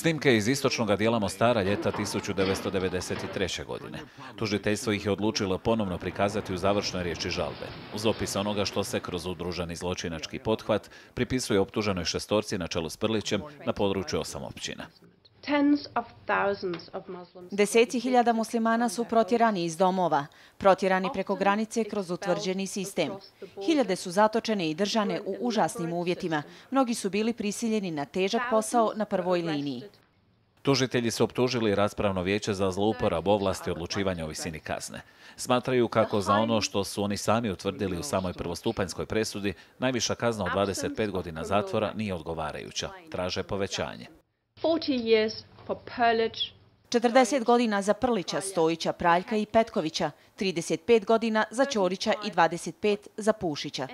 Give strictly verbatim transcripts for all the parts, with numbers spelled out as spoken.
Snimke iz istočnog dijela Mostara ljeta tisuću devetsto devedeset treće. godine. Tužiteljstvo ih je odlučilo ponovno prikazati u završnoj riječi žalbe, uz opis onoga što se kroz udruženi zločinački pothvat pripisuje optuženoj šestorci na čelu s Prlićem na području osam općina. Deseci hiljada muslimana su protjerani iz domova, protjerani preko granice kroz utvrđeni sistem. Hiljade su zatočene i držane u užasnim uvjetima. Mnogi su bili prisiljeni na težak posao na prvoj liniji. Tužitelji su optužili raspravno vijeće za zlouporabu ovlasti odlučivanja o visini kazne. Smatraju kako za ono što su oni sami utvrdili u samoj prvostupanjskoj presudi, najviša kazna od dvadeset pet godina zatvora nije odgovarajuća. Traže povećanje. četrdeset godina za Prlića, Stojića, Praljka i Petkovića, trideset pet godina za Ćorića i dvadeset pet za Pušića.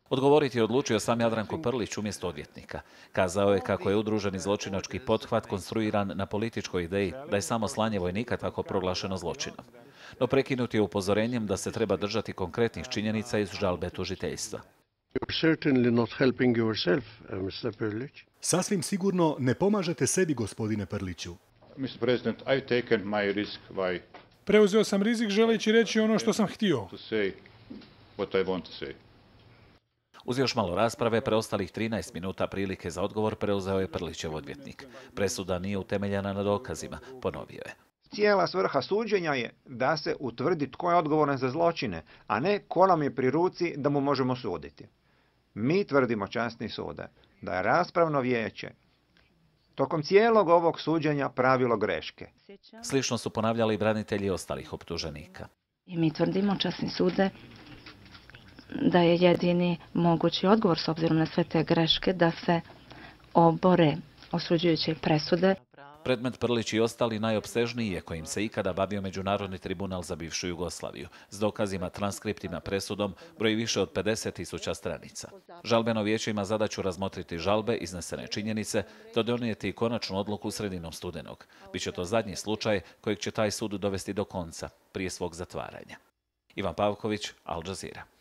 Odgovoriti je odlučio sam Jadranko Prlić umjesto odvjetnika. Kazao je kako je udruženi zločinački pothvat konstruiran na političkoj ideji da je samo slanje vojnika tako proglašeno zločinom. No prekinut je upozorenjem da se treba držati konkretnih činjenica iz žalbe tužiteljstva. Sasvim sigurno ne pomažete sebi, gospodine Prliću. Preuzeo sam rizik želeći reći ono što sam htio. Uz još malo rasprave, preostalih trinaest minuta prilike za odgovor preuzeo je Prlićev odvjetnik. Presuda nije utemeljena na dokazima, ponovio je. Cijela svrha suđenja je da se utvrdi tko je odgovoran za zločine, a ne ko nam je pri ruci da mu možemo suditi. Mi tvrdimo, časni sude, da je raspravno vijeće tokom cijelog ovog suđenja pravilo greške. Slično su ponavljali i branitelji ostalih optuženika. I mi tvrdimo, časni sude, da je jedini mogući odgovor s obzirom na sve te greške da se obore osuđujuće presude. Predmet Prlić i ostali najopsežniji je kojim se ikada bavio Međunarodni tribunal za bivšu Jugoslaviju, s dokazima, transkriptima, presudom, broji više od pedeset tisuća stranica. Žalbeno vijeće ima zadaću razmotriti žalbe, iznesene činjenice, te donijeti konačnu odluku sredinom studenog. Biće to zadnji slučaj kojeg će taj sud dovesti do konca, prije svog zatvaranja. Ivan Pavković, Al Jazeera.